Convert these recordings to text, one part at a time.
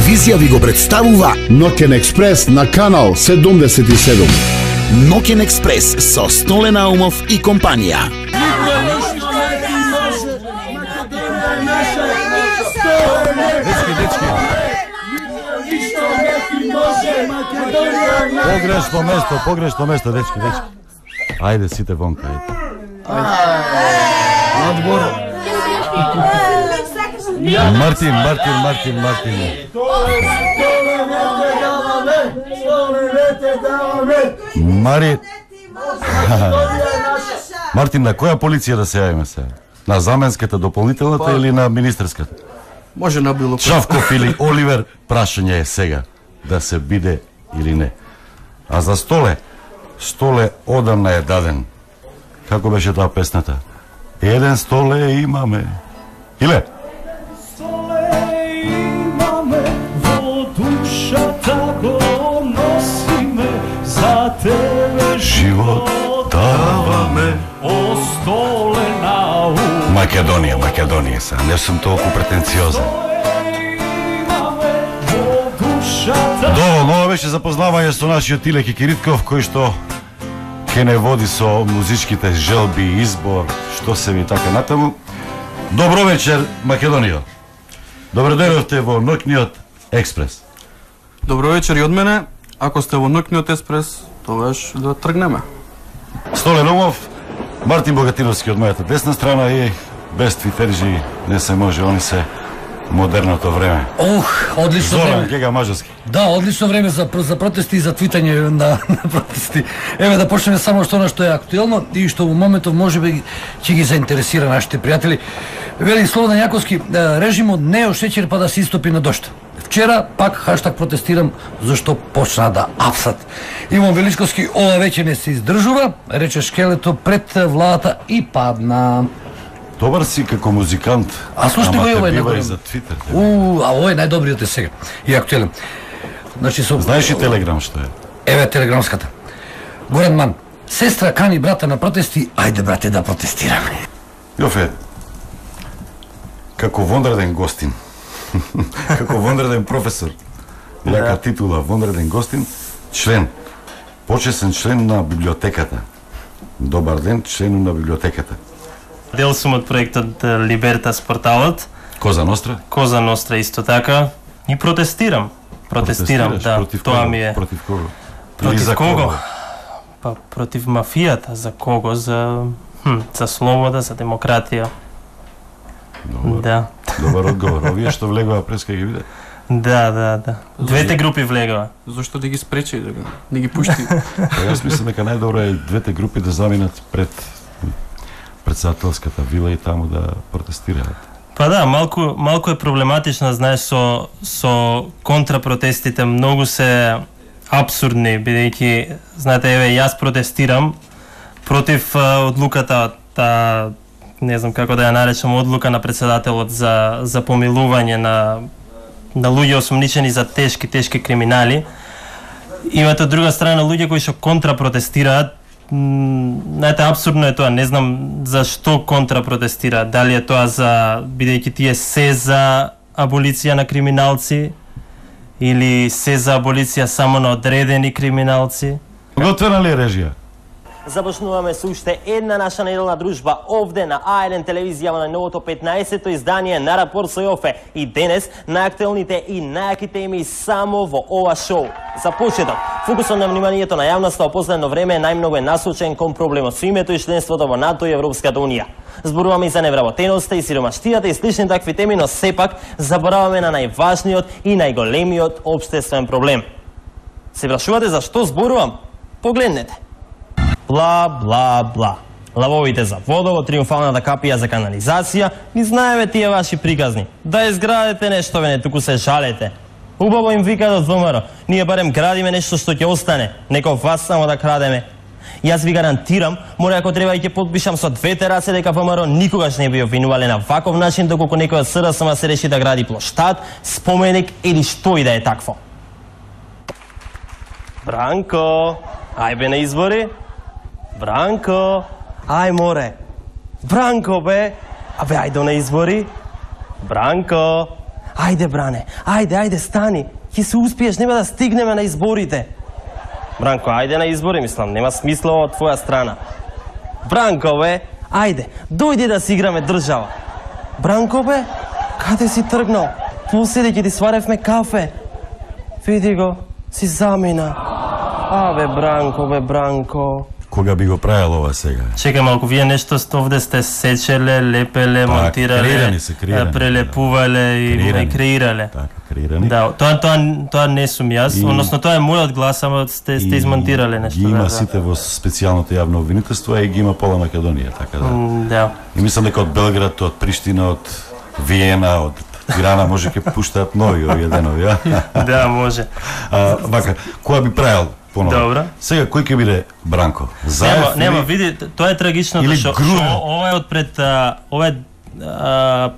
телевизија ви го представува Ноќен експрес на канал 77. Ноќен експрес со Столе Наумов и компанија. Погрешно место, дечки. Ајде, сите вонка, Надвор. Мартин. Мартин, на која полиција да се јавиме сега? На заменската, дополнителната или на министерската? Може на било кој. Чавков или Оливер, прашање е сега да се биде или не. А за Столе одамна е даден. Како беше таа песната? Еден Столе имаме. Иле? Столе имаме, во душата го носиме, за тебе Живот даваме. О Столе Наум. Македонија са. Не сум толку претенциозен. Доволно, ова беше запознавање со нашиот Иле Кикиритков, кој што ке не води со музичките желби, избор, што се ми така натаму. Добро вечер, Македонија. Добро дојдовте во Ноќниот експрес. Добро вечер и од мене. Ако сте во Ноќниот експрес, тогаш да тргнеме. Столе Наумов, Мартин Богатиновски од мојата десна страна и без твитерџи не се може, они се модерното време. Одлично Зоран време. Гега Мажарски. Да, одлично време за протести и за твитање на протести. Еве да почнеме само што е актуелно и што во моментов можеби ќе ги заинтересира нашите пријатели. Вели Слободан Јаковски, режимот не е шеќер па да се истопи на дошт. Вчера пак хаштаг протестирам зашто почна да апсат. Иван Величковски ова веќе не се издржува, рече шкелето пред владата и падна. Добар си како музикант. А слушате го и ова е бива и најголем. за Твитер. А ова е најдобриот е сега. И актуелен. Значи Знаеш ли Телеграм што е? Еве телеграмската. Горан Ман, сестра кани брата на протести, ајде брате да протестираме. Јофе, како вонреден гостин, како вонреден професор, јака титула, вонреден гостин, член, почесен член на библиотеката. Добар ден, член на библиотеката. Дел сум од проектот Либертас порталот. Коза Ностра Исто така. И протестирам, да, против тоа кого? ми е. Против кого? Или Против за кого? Па против мафијата, за кого? За слобода, за демократија. Да. Добар одговор. Овие што влегува през кај ги виде? Да. Двете групи влегува. Зошто да ги спречи, да ги пушти? Јас мислам дека најдобро е двете групи да заминат пред председателската вила и таму да протестираат. Па да, малку е проблематично, знаеш, со контрапротестите, многу се апсурдни, бидејќи, знаете, еве, јас протестирам против одлуката, не знам како да ја наречам, одлука на председателот за помилување на луѓе осумничени за тешки криминали. Имате од друга страна луѓе кои што контрапротестираат. Знаете, апсурдно е тоа, не знам зашто контрапротестираат. Дали е тоа бидејќи тие се за аболиција на криминалци или се за аболиција само на одредени криминалци. Готвена ли е режија? Започнуваме со уште една наша неделна дружба овде на А1 телевизија во најновото 15-то издание на Рапорт со Јофе. И денес најактуелните и најаките еми само во ова шоу. За почеток, фокусот на вниманието на јавноста во последно време најмногу е насочен кон проблемот со името и членството во НАТО и Европската унија. Зборуваме и за невработеноста и сиромаштијата и слични такви теми, но сепак забораваме на најважниот и најголемиот општествен проблем. Се прашувате зашто зборувам? Погледнете. Бла. Лавовите за водовод, триумфалната капија за канализација, ни знаеме тие ваши приказни. Да изградите нешто, не туку се жалете. Убаво им викат од ВМРО, ние барем градиме нешто што ќе остане, некој вас само да крадеме. Јас ви гарантирам, мора ако треба и ќе подпишам со двете раце дека ВМРО никогаш не би обвинувале на ваков начин доколку некој од СРСМ се реши да гради плоштад, споменик или што и да е такво. Бранко, ајбе на избори. Бранко, ај море. Бранко бе, ајде на избори. Бранко, Ајде, бране, ајде, стани. Ќе се успиеш, нема да стигнеме на изборите. Бранко, ајде на избори, мислам, нема смисла од твоја страна. Бранко, бе, ајде, дојди да си играме држава. Бранко, бе, каде си тргнал? Поседи ќе ти сваревме кафе. Види го, си замина. Бе, Бранко. Кога би го правил ова сега? Чекај малку, вие нешто овде сте сечеле, лепеле, монтирале, прелепувале и креирале. Така, креирани. Да, тоа не сум јас, односно тоа е мојот глас, ама сте измонтирале нешто. Ги има сите во специјалното јавно обвинителство, и ги има пола Македонија, така да. Да. И мислам дека од Белград, од Приштина, од Виена, од Тирана може ќе пуштаат нови овие денови, Да, може. Вака, која би правил понова? Добра. Сега кој ќе биде Бранко? Нема, види, тоа е трагичното што ова е одпред ова е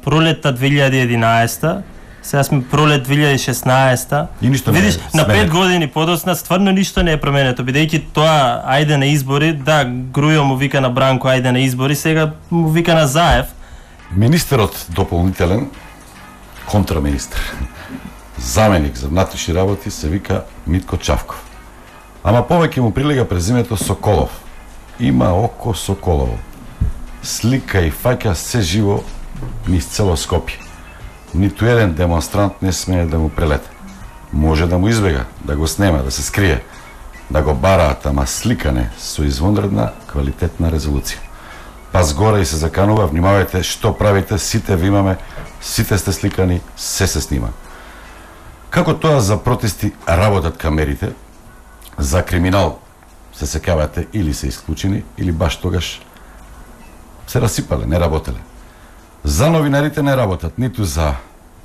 пролетта 2011, сега сме пролет 2016. И ништо не е видиш, на 5 сменето. години подоцна стварно ништо не е променето, бидејќи тоа ајде на избори, да, Грујо му вика на Бранко ајде на избори, сега му вика на Заев. Министерот дополнителен, контраминистр, заменик за внатрешни работи се вика Митко Чавков. Ама повеќе му прилега презимето Соколов. Има око Соколово. Слика и фаќа се живо низ цело Скопје. Ниту еден демонстрант не смее да му прелета. Може да му избега, да го снема, да се скрие, да го бараат, ама сликане со извонредна квалитетна резолуција. Па згора и се заканува, внимавајте што правите, сите ви имаме, сите сте сликани, се снима. Како тоа за протести работат камерите, за криминал се сеќавате или се исклучени, или баш тогаш се расипале, не работеле. За новинарите не работат, ниту за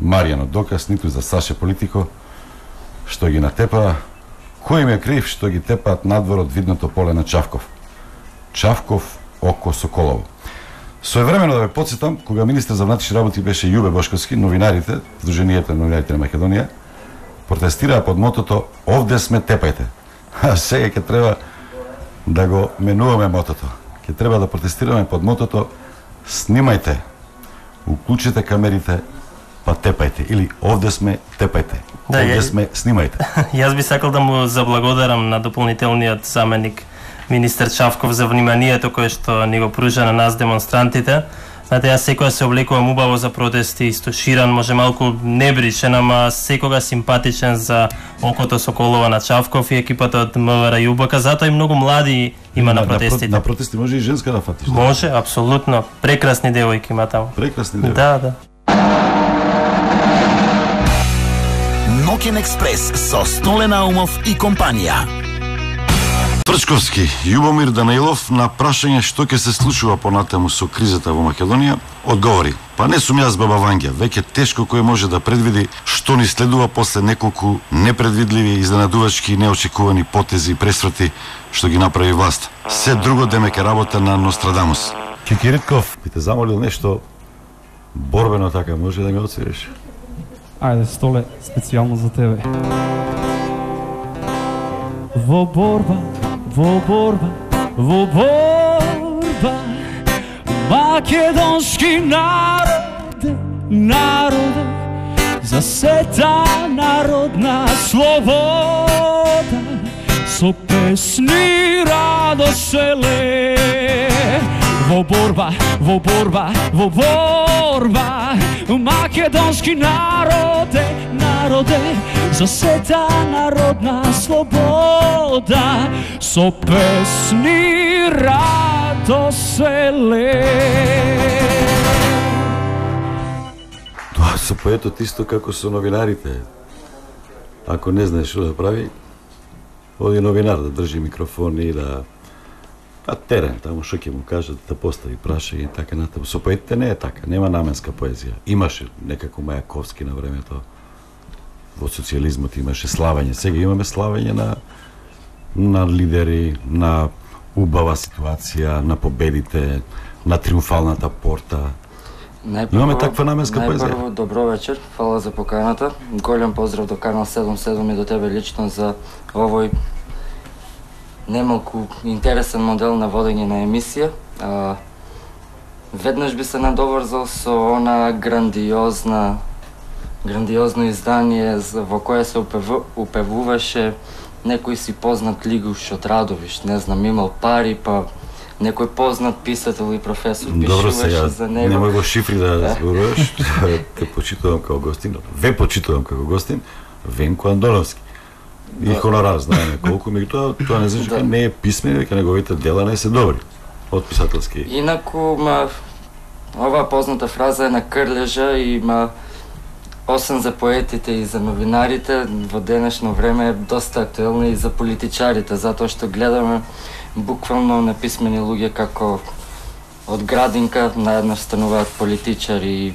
Маријано Доказ, ниту за Саше Политико, што ги натепа. Кој им е крив што ги тепаат надвор од видното поле на Чавков? Чавков око Соколово. Своевремено да ве потсетам, кога министер за внатрешни работи беше Јубе Бошковски, новинарите, Сдруженијето на новинарите на Македонија, протестираа под мотото "Овде сме, тепајте". А сега ќе треба да го менуваме мотото. Ќе треба да протестираме под мотото "Снимајте, уклучите камерите, па тепајте", или "Овде сме, тепајте". Да, овде сме, снимајте. Јас би сакал да му заблагодарам на дополнителниот заменик министер Чавков за вниманието кое што ни го пружа на нас демонстрантите. Знаете, јас секогаш се облекувам убаво за протести, истоширан, може малку небричен, ама секогаш симпатичен за окото Соколова на Чавков и екипата од МВР и УБК, затоа и многу млади има на протестите. На протести може и женска да фатиш. Може, апсолутно. Прекрасни девојки има таму. Прекрасни девојки. Да. Ноќен експрес со Столе Наумов и компанија. Прчковски, Љубомир Данаилов на прашање што ќе се случува понатаму со кризата во Македонија, одговори: "Па не сум јас баба Вања, веќе тешко кој може да предвиди што ни следува после неколку непредвидливи, изненадувачки и неочекувани потези и пресврати што ги направи власт. Се друго демек е работа на Нострадамус." Кикиритков, би те замолил нешто борбено така, може да ми отсвириш? Ајде, Столе, специјално за тебе. Во борба, македонски народе, за сета народна слобода, со песни радоселе. Во борба, македонски народе, за сета народна слобода, со песни радоселе. Тоа со поетот исто како со новинарите. Ако не знаеш што да прави, оди новинар да држи микрофон и да терен, таму што ќе му кажат да постави прашање и така натаму. Со поетите не е така, нема наменска поезија. Имаше некако Мајаковски на времето, во социјализмот имаше славење, сега имаме славење на лидери, на убава ситуација, на победите, на триумфалната порта. Имаме таква наменска поезија. Најпрво, добро вечер, фала за поканата. Голем поздрав до Канал 77 и до тебе лично за овој немалку интересен модел на водење на емисија. Веднаш би се надоврзал со она грандиозна грандиозно издание во кое се упевуваше некој си познат Лигуш од Радовиш, не знам, имал пари, па некој познат писател и професор пишуваше за него. Немој во шифри да зборуваш, те почитувам како гостин, ве почитувам како гостин, Венко Андоновски. И хонорар, знаеме колку, меѓутоа тоа не значи дека не е писмен, дека неговите дела не се добри од писателски. Инаку, оваа позната фраза е на Крлежа и освен за поетите и за новинарите, во денешно време е доста актуелна и за политичарите, затоа што гледаме буквално неписмени луѓе како од градинка наедностануваат политичари и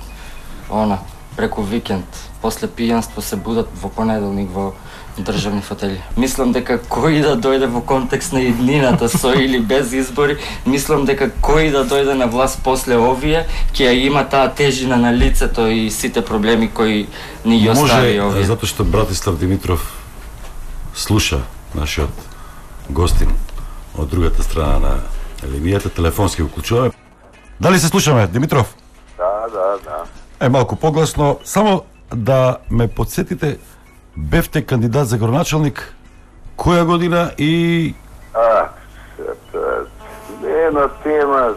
преку викенд, после пијанство се будат во понеделник во државни фотели. Мислам дека кој да дојде во контекст на иднината со или без избори, мислам дека кој да дојде на власт после овие, ќе ја има таа тежина на лицето и сите проблеми кои ни ги остави овие. Може, затоа што Братислав Димитров слуша нашиот гостин од другата страна на линијата, телефонски уклучуваме. Дали се слушаме, Димитров? Да. Малку погласно, само да ме подсетите, бевте кандидат за градоначалник која година и... Не е на тема,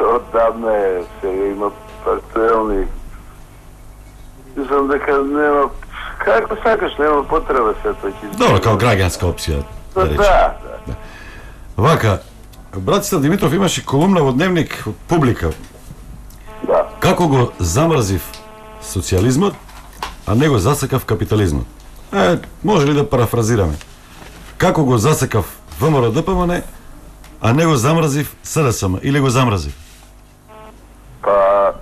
оддавна е, сега има актуелни. Мислам дека нема, како сакаш, нема потреба се тоа ќе... Добро, као граѓанска опција, да речем. Да. Вака, Братислав Димитров имаше колумна во Дневник од Публика. Да. Како го замрзив социјализмот, а не го засекав капитализмот. Може ли да парафразираме? Како го засекав ВМРО ДПМН, а не го замрзив СДСМ, или го замрзив? Па,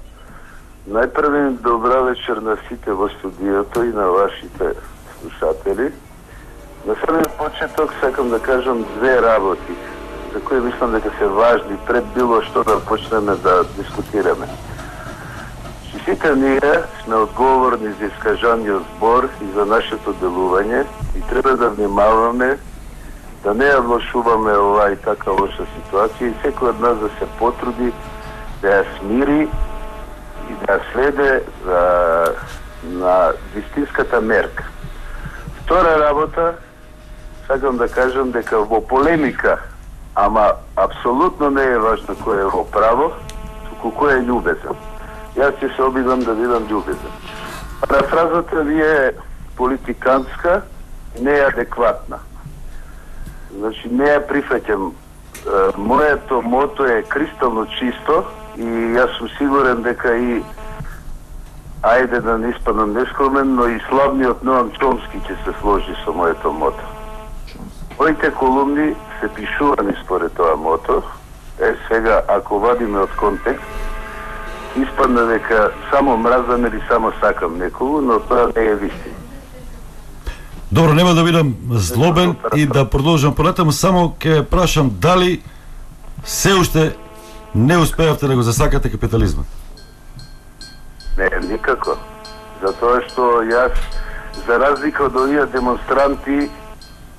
најпрви добра вечер на сите во студиото и на вашите слушатели. На самиот почеток сакам да кажам две работи, за кои мислам дека се важни пред било што да почнеме да дискутираме. Сите ние сме одговорни за искажаниот збор и за нашето делување и треба да внимаваме да не ја влошуваме оваа и така лоша ситуација и секој од нас да се потруди да ја смири и да ја следе на вистинската мерка. Втора работа, сакам да кажам дека во полемика, ама апсолутно не е важно кој е во право, туку кој е љубезен. Јас ќе се обидам да бидам љубезен. Парафразата ви е политиканска, не е адекватна. Значи, не ја прифаќам. Моето мото е кристално чисто и јас сум сигурен дека и ајде да не испадам нескромен, но и славниот Ноам Чомски ќе се сложи со моето мото. Моите колумни се пишувани според тоа мото. Сега, ако вадиме од контекст, испадна дека само мразам или само сакам некого, но тоа не е вистина. Добро, нема да бидам злобен и да продолжам понатаму, само ќе прашам дали се уште не успеавте да го засакате капитализмот? Не, никако. Затоа што јас, за разлика од овие демонстранти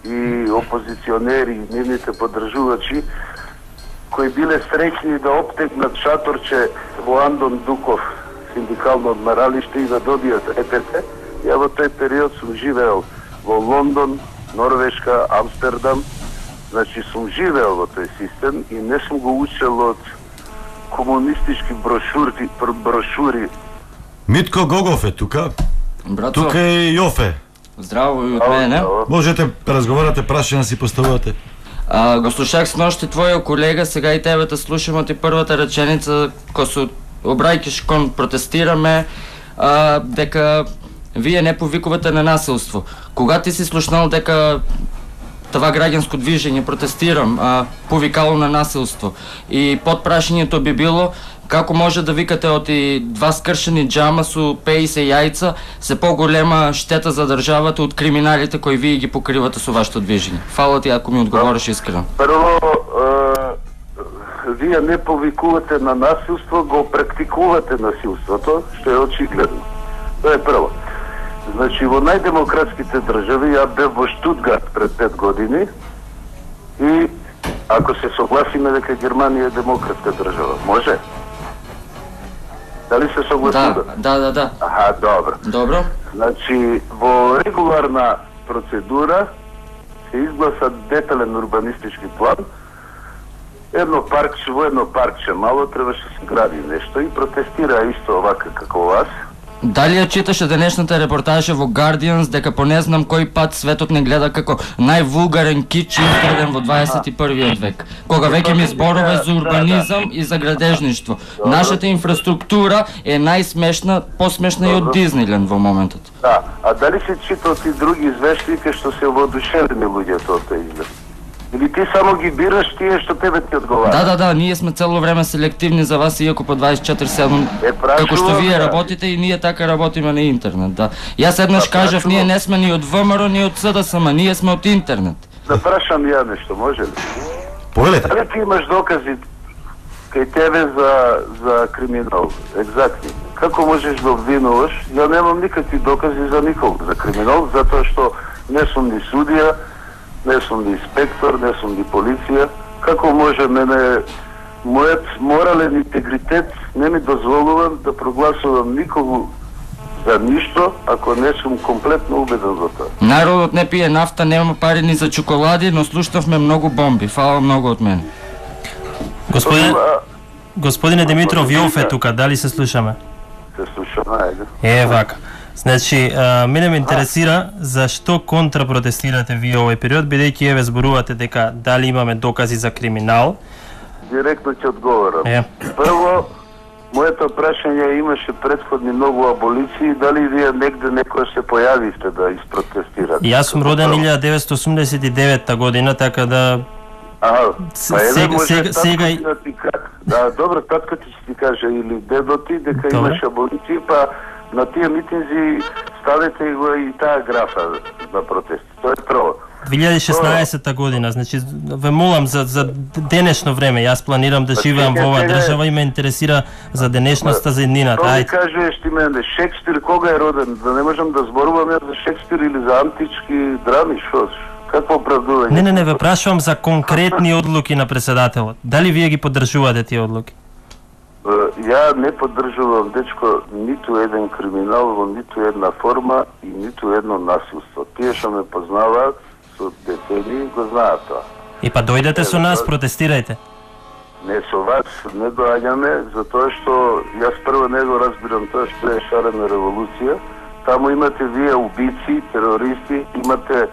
и опозиционери и нивните поддржувачи, кои биле среќни да оптегнат шаторче во Андон Дуков синдикално одмаралиште и да добијат ЕПТ, ја во тој период сум живеел во Лондон, Норвешка, Амстердам, значи сум живеел во тој систем и не сум го учел од комунистички брошури. Митко Гогов е тука. Братко, тука е Јофе. Здраво и од мене. Можете да разговарате, прашања си поставувате. Го слушах сношти твојот колега, сега и тебе те слушам од првата реченица, кој се обраќаш кон протестираме, дека вие не повикувате на насилство. Кога ти си слушнал дека това граѓанско движење протестирам, повикало на насилство? И подпрашањето би било, како може да викате од и два скршени џама со 50 јајца се поголема штета за државата од криминалите кои вие ги покривате со вашето движење? Фала ти ако ми одговориш искрено. Прво, вие не повикувате на насилство, го практикувате насилството, што е очигледно. Тоа е прво. Значи, во најдемократските држави, ја бев во Штутгарт пред 5 години и ако се согласиме дека Германија е демократска држава, може? Дали се согласува? Да. Аха, добро. Значи, во регуларна процедура се изгласа детален урбанистички план. Во едно паркче мало требаше да се гради нешто и протестира исто овака како вас. Дали ја читаше денешната репортажа во Guardians дека по не знам кој пат светот не гледа како највулгарен кич изграден во 21. век, кога веќе ми зборове за урбанизам и за градежништво. Нашата инфраструктура е најсмешна, посмешна и од Диснейленд во моментот. Да, а дали се читал ти други извештаи што се воодушевени луѓето од тој изглед? Или ти само ги бираш тие што тебе ти одговара? Да, ние сме цело време селективни за вас, иако по 24/7, како што вие работите и ние така работиме на интернет, да. Јас еднаш кажав, ние не сме ни од ВМРО, ни од СДСМ, ние сме од интернет. Да прашам ја нешто, може ли? Повелете. Дали ти имаш докази кај тебе за криминал, екзактни? Како можеш да обвинуваш? Ја немам никакви докази за никого за криминал, затоа што не сум ни судија, не сум ни инспектор, не сум ни полиција. Како може мојот морален интегритет не ми дозволува да прогласувам никого за ништо, ако не сум комплетно убеден за тоа. Народот не пие нафта, нема пари ни за чоколади, но слушнавме многу бомби. Фала многу од мене. Господине Димитров, Јов е тука, дали се слушаме? Се слушаме, ајде. Вака. Значи, мене ме интересира зашто контрапротестирате вие овој период, бидејќи еве зборувате дека дали имаме докази за криминал. Директно ќе одговорам. Прво, моето прашање имаше предходни многу аболиции, дали вие негде некој се појавивте да isprotestирате? Јас сум роден 1989 година, така да сега и да, добро, татко ти ќе ти каже или дедо ти дека имаше аболиции, па на тие митинзи ставете го и таа графа на протест. Тоа е прво. 2016 година, значи ве молам за денешно време. Јас планирам да живеам во оваа држава и ме интересира за денешноста, за иднината. Тоа ми кажеш ти мене, Шекспир кога е роден? Да не можам да зборувам за Шекспир или за антички драми, шо? Какво оправдување? Не, ве прашувам за конкретни одлуки на председателот. Дали вие ги поддржувате тие одлуки? Ја не поддржувам, дечко, ниту еден криминал во ниту една форма и ниту едно насилство. Тие што ме познаваат со детени го знаат тоа. И па дојдете со нас, протестирајте. Не со вас, не доаѓаме, затоа што јас прво не го разбирам тоа што е шарена револуција. Таму имате вие убици, терористи, имате...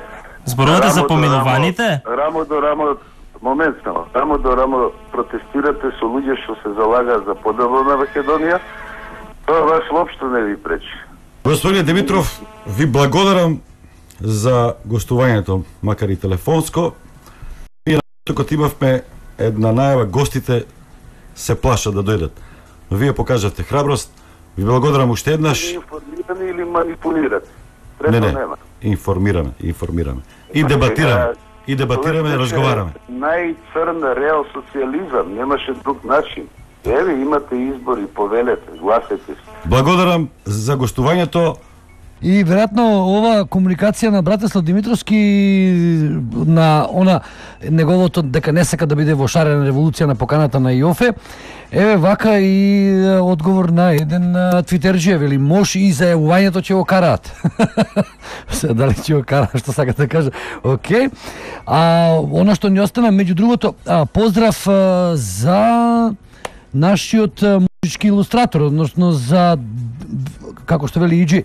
Зборувате за помилуваните? Рамо до рамо, рамо до рамо протестирате со луѓе што се залагаат за поделба на Македонија. Тоа вас воопшто не ви пречи. Господине Димитров, ви благодарам за гостувањето, макар и телефонско. И тука имавме една најава, гостите се плашат да дојдат. Но вие покажавте храброст. Ви благодарам уште еднаш. Информирани или манипулирате? Не, информираме. И дебатираме, разговараме. Најцрн реал социализам, немаше друг начин. Еве, имате избори, повелете, гласете се. Благодарам за гостувањето. И веројатно ова комуникација на Братислав Димитровски на она неговото дека не сака да биде во шарена револуција на поканата на Јофе, еве вака и одговор на еден твитерџија, вели мош и зајавувањето ќе го караат. Дали ќе го караат, што сака да каже? Океј. Она што ни остана, меѓу другото, поздрав за нашиот музички илустратор, односно за, како што вели Иджи,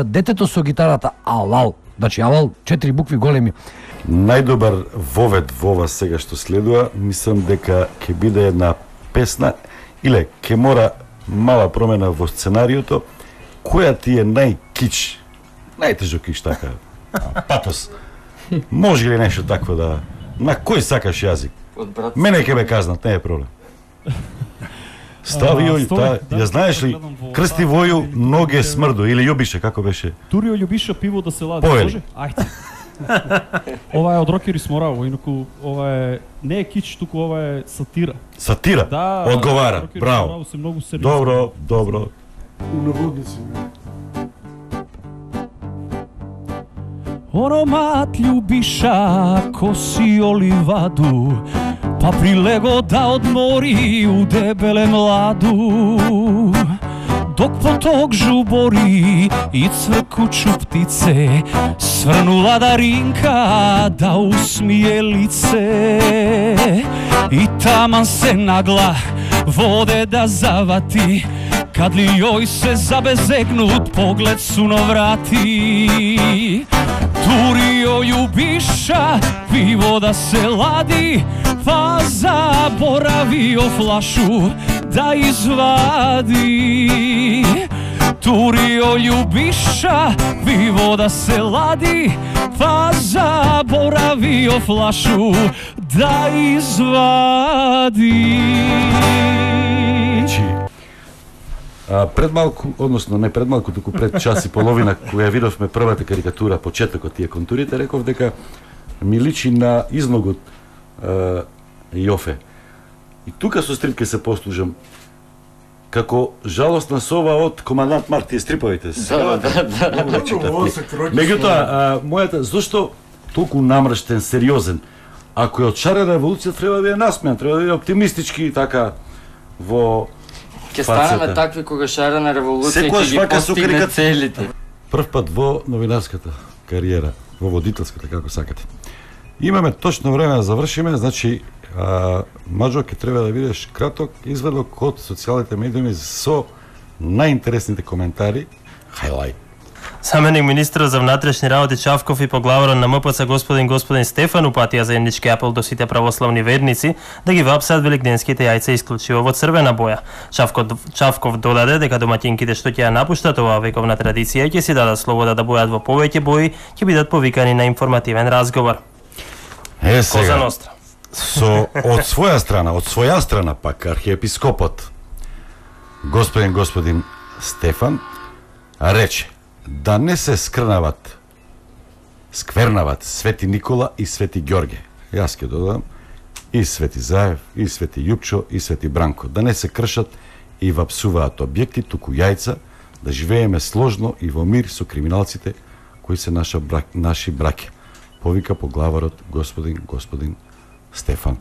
детето со гитарата Алал. Значи Алал, 4 букви големи. Најдобар вовед во ова сега што следува, мислам дека ќе биде една песна или ќе мора мала промена во сценариото. Која ти е најкич? Најтежок кич така. Патос. Може ли нешто такво да... На кој сакаш јазик? Мене ќе ме казнат, не е проблем. Стави јој, ја знаеш ли, крсти воју, ноге смрду, или љубише, како беше? Турио љубише пиво да се лади, може? Ајде. Ова е од Рокери Смораво, инаку ова е не е кич, туку ова е сатира. Сатира? Да, одговара, браво. Добро. Унаводници. Оромат љубиша коси оливаду, па прилего да одмори у дебеле младу. Ток поток жубори и цвркучу птице, сврнула Даринка да усмие лице. И таман се нагла воде да завати, кад ли јој се забезекнут поглед суноврати. Тури јој убиша пиво да се лади, па заборавио флашу да извади. Турио љубиша пиво да се лади, па заборавио флашу да извади. Пред малку, односно не пред малку, туку пред час и половина, која видовме првата карикатура, почетокот тие контурите, реков дека ми личи на излогот Јофе. И тука со стрип ке се послужам како жалостна сова од Командант Марк, тие стриповите. Меѓутоа, мојата, зошто толку намрштен, сериозен? Ако е од шарена револуција, треба да е насмеан, треба да е оптимистички и така во Ке станеме такви кога шарена револуција ќе ги постигне целите. Прв пат во новинарската кариера, во водителската, како сакате. Имаме точно време да завршиме, значи Маџо, ќе треба да видиш краток изведок од социјалните медиуми со најинтересните коментари. Хајлајт. Заменик министрот за внатрешни работи Чавков и поглаварот на МПЦ господин Стефан упатија заеднички апел до сите православни верници да ги вапсат великденските јајца исклучиво во црвена боја. Чавков додаде дека домаќинките што ќе ја напуштат оваа вековна традиција ќе си дадат слобода да бојат во повеќе бои, ќе бидат повикани на информативен разговор. Сега, од своја страна пак архиепископот господин Стефан рече да не се сквернават Свети Никола и Свети Ѓорѓе. Јас ќе додам и Свети Заев, и Свети Јупчо, и Свети Бранко. Да не се кршат и вапсуваат објекти, туку јајца, да живееме сложно и во мир со криминалците кои се наши браќа. Повика поглаварот господин Стефан.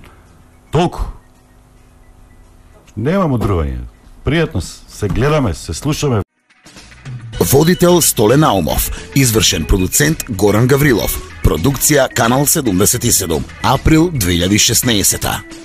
Толку. Нема мудрување. Пријатно се гледаме, се слушаме. Водител Столе Наумов, извршен продуцент Горан Гаврилов, продукција Канал 77, април 2016.